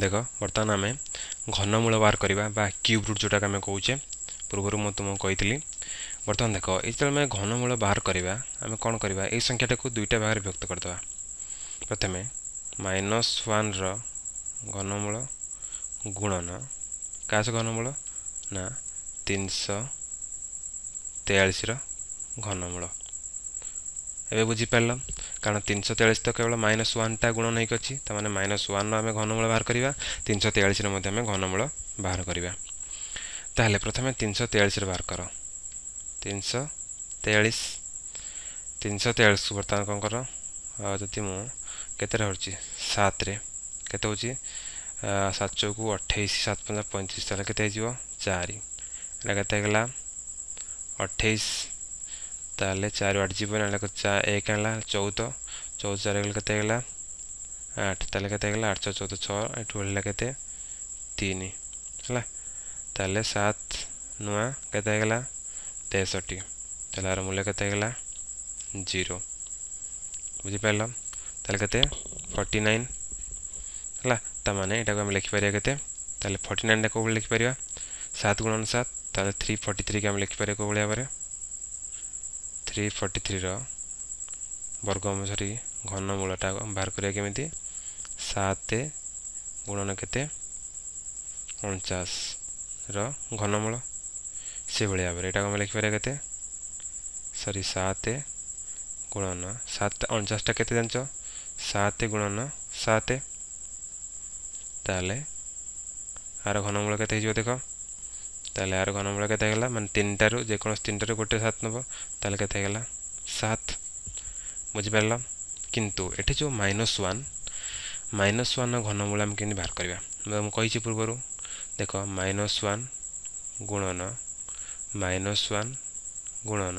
ଦେଖ, ବର୍ତ୍ତମାନ ଆମେ ଘନମୂଳ ବାହାର କରିବା ବା କ୍ୟୁବ୍ ରୁଟ୍ ଯେଉଁଟାକୁ ଆମେ କହୁଛେ। ପୂର୍ବରୁ ମୁଁ ତୁମକୁ କହିଥିଲି। ବର୍ତ୍ତମାନ ଦେଖ, ଏଇ ଯେତେବେଳେ ଆମେ ଘନମୂଳ ବାହାର କରିବା, ଆମେ କ'ଣ କରିବା? ଏଇ ସଂଖ୍ୟାଟାକୁ ଦୁଇଟା ଭାଗରେ ବିଭକ୍ତ କରିଦେବା। ପ୍ରଥମେ ମାଇନସ୍ ୱାନ୍ର ଘନମୂଳ ଗୁଣନ କାହା ସହ ଘନମୂଳ ନା 343ର ଘନମୂଳ। ଏବେ ବୁଝିପାରିଲ? କାରଣ 343 ତ କେବଳ ମାଇନସ୍ ୱାନ୍ଟା ଗୁଣନ ହେଇକି ଅଛି। ତାମାନେ ମାଇନସ୍ ୱାନ୍ର ଆମେ ଘନମୂଳ ବାହାର କରିବା, 343ର ମଧ୍ୟ ଆମେ ଘନମୂଳ ବାହାର କରିବା। ତାହେଲେ ପ୍ରଥମେ 343ର ବାହାର କର। 343, 343କୁ ବର୍ତ୍ତମାନ କ'ଣ କର? ଯଦି ମୁଁ କେତେରେ ହେଉଛି, 7ରେ କେତେ ହେଉଛି? 7 ଚଉକୁ 28, 7 ପଞ୍ଚା 35, ତାହେଲେ କେତେ ହେଇଯିବ? 4। ଏଇଟା କେତେ ହେଇଗଲା? 28। ତାହେଲେ 4 ଆଠ ଯିବ ନା, 1 ହେଲା 14, 14 4 ଗଲେ କେତେ ହେଇଗଲା? 8। ତାହେଲେ କେତେ ହେଇଗଲା? 8 6 14, 6, ଏଠୁ ହେଲା କେତେ? 3 ହେଲା। ତାହେଲେ 7 ନୂଆ କେତେ ହେଇଗଲା? 63। ତାହେଲେ ଆର ମୂଲ୍ୟ କେତେ ହେଇଗଲା? 0। ବୁଝିପାରିଲ? ତାହେଲେ କେତେ? 49 ହେଲା। ତାମାନେ ଏଇଟାକୁ ଆମେ ଲେଖିପାରିବା କେତେ? ତାହେଲେ 49ଟା କେଉଁ ଭଳି ଲେଖିପାରିବା? 7 ଗୁଣନ 7। ତାହେଲେ 343କି ଆମେ ଲେଖିପାରିବା କେଉଁ ଭଳି ଭାବରେ? 343ର ବର୍ଗ, ସରି, ଘନମୂଳଟା ବାହାର କରିବା କେମିତି? 7 ଗୁଣନ କେତେ? 49ର ଘନମୂଳ। ସେଭଳି ଭାବରେ ଏଇଟାକୁ ଆମେ ଲେଖିପାରିବା କେତେ? ସରି, 7 ଗୁଣନ 7, 49ଟା କେତେ ଜାଣିଛ? 7 ଗୁଣନ 7। ତାହେଲେ ଆର ଘନମୂଳ କେତେ ହେଇଯିବ ଦେଖ। ତାହେଲେ ଆର ଘନମୂଳ କେତେ ହେଇଗଲା? ମାନେ ତିନିଟାରୁ, ଯେକୌଣସି ତିନିଟାରୁ ଗୋଟେ 7 ନେବ, ତାହେଲେ କେତେ ହେଇଗଲା? 7। ବୁଝିପାରିଲ? କିନ୍ତୁ ଏଠି ଯେଉଁ ମାଇନସ୍ ୱାନ୍, ମାଇନସ୍ ୱାନ୍ର ଘନମୂଳ ଆମେ କେମିତି ବାହାର କରିବା? ମୁଁ କହିଛି ପୂର୍ବରୁ। ଦେଖ, ମାଇନସ୍ ୱାନ୍ ଗୁଣନ ମାଇନସ୍ ୱାନ୍ ଗୁଣନ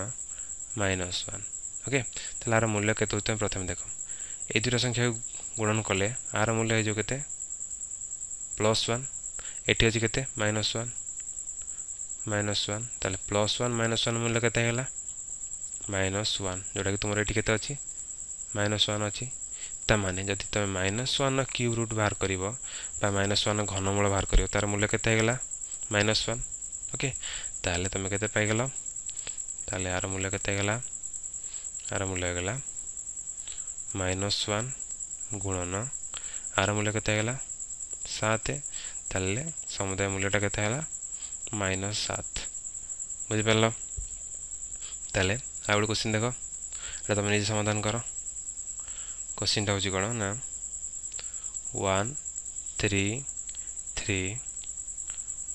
ମାଇନସ୍ ୱାନ୍। ଓକେ, ତାହେଲେ ଆର ମୂଲ୍ୟ କେତେ ହେଉଛି ତମେ ପ୍ରଥମେ ଦେଖ। ଏଇ ଦୁଇଟା ସଂଖ୍ୟାକୁ ଗୁଣନ କଲେ ଆର ମୂଲ୍ୟ ହେଇଯିବ କେତେ? Plus one. ଏଠି ଅଛି କେତେ? Minus one, minus one. ତାହେଲେ ପ୍ଲସ୍ ୱାନ୍ ମାଇନସ୍ ୱାନ୍ ମୂଲ୍ୟ କେତେ ହେଇଗଲା? ମାଇନସ୍ ୱାନ୍, ଯେଉଁଟାକି ତୁମର ଏଠି କେତେ ଅଛି? ମାଇନସ୍ ୱାନ୍ ଅଛି। ତାମାନେ ଯଦି ତୁମେ ମାଇନସ୍ ୱାନ୍ର କ୍ୟୁବ୍ ରୁଟ୍ ବାହାର କରିବ ବା ମାଇନସ୍ ୱାନ୍ର ଘନମୂଳ ବାହାର କରିବ, ତାର ମୂଲ୍ୟ କେତେ ହେଇଗଲା? Minus one. Okay, ତାହେଲେ ତୁମେ କେତେ ପାଇଗଲ? ତାହେଲେ ଆର ମୂଲ୍ୟ କେତେ ହେଇଗଲା? ଆର ମୂଲ୍ୟ ହେଇଗଲା ମାଇନସ୍ ୱାନ୍ ଗୁଣନ ଆର ମୂଲ୍ୟ କେତେ ହେଇଗଲା? 7। ତାହେଲେ ସମୁଦାୟ ମୂଲ୍ୟଟା କେତେ ହେଲା? ମାଇନସ୍ 7। ବୁଝିପାରିଲ? ତାହେଲେ ଆଉ ଗୋଟେ କୋଶ୍ଚିନ୍ ଦେଖ, ଏଇଟା ତୁମେ ନିଜେ ସମାଧାନ କର। କୋଶ୍ଚିନ୍ଟା ହେଉଛି କ'ଣ ନା 1 3 3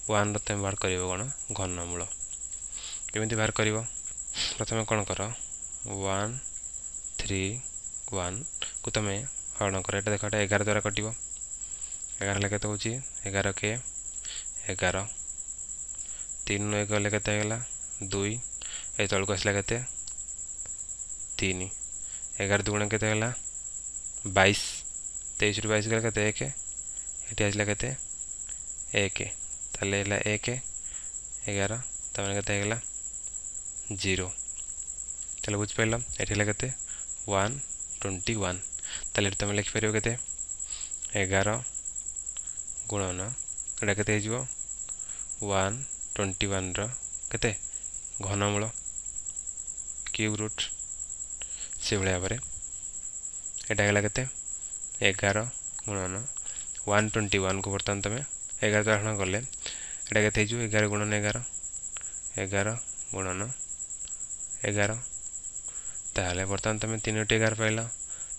1ର ତୁମେ ବାହାର କରିବ କ'ଣ? ଘନମୂଳ। କେମିତି ବାହାର କରିବ? ପ୍ରଥମେ କ'ଣ କର? 1 3 1କୁ ତୁମେ ହରଣ କର। ଏଇଟା ଦେଖ, ଏଇଟା 11 ଦ୍ୱାରା କଟିବ। 11 ହେଲେ କେତେ ହେଉଛି? 11 କେ 11। 3 1 ଗଲେ କେତେ ହେଇଗଲା? 2। ଏ ତଳକୁ ଆସିଲା କେତେ? 3। 11 ଦୁଗୁଣ କେତେ ହେଲା? 22। 23ରୁ 22 ଗଲେ କେତେ? 1। ଏଠି ଆସିଲା କେତେ? 1। ତାହେଲେ ହେଲା 1 11, ତାମାନେ କେତେ ହେଇଗଲା? 0। ତାହେଲେ ବୁଝିପାରିଲ? ଏଠି ହେଲା କେତେ? 121। ତାହେଲେ ଏଠି ତୁମେ ଲେଖିପାରିବ କେତେ? 11 ଗୁଣନ ଏଇଟା କେତେ ହେଇଯିବ? 121ର କେତେ? ଘନମୂଳ, କ୍ୟୁବ୍ ରୁଟ୍। ସେଭଳି ଭାବରେ ଏଇଟା ହେଲା କେତେ? 11 ଗୁଣନ 121କୁ ବର୍ତ୍ତମାନ ତୁମେ 11 ଦ୍ୱାରା ହରଣ କଲେ ଏଇଟା କେତେ ହେଇଯିବ? 11 ଗୁଣନ 11, 11 ଗୁଣନ 11। ତାହେଲେ ବର୍ତ୍ତମାନ ତୁମେ ତିନୋଟି 11 ପାଇଲ।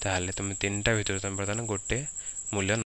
ତାହେଲେ ତୁମେ ତିନିଟା ଭିତରୁ ତୁମେ ବର୍ତ୍ତମାନ ଗୋଟେ ମୂଲ୍ୟ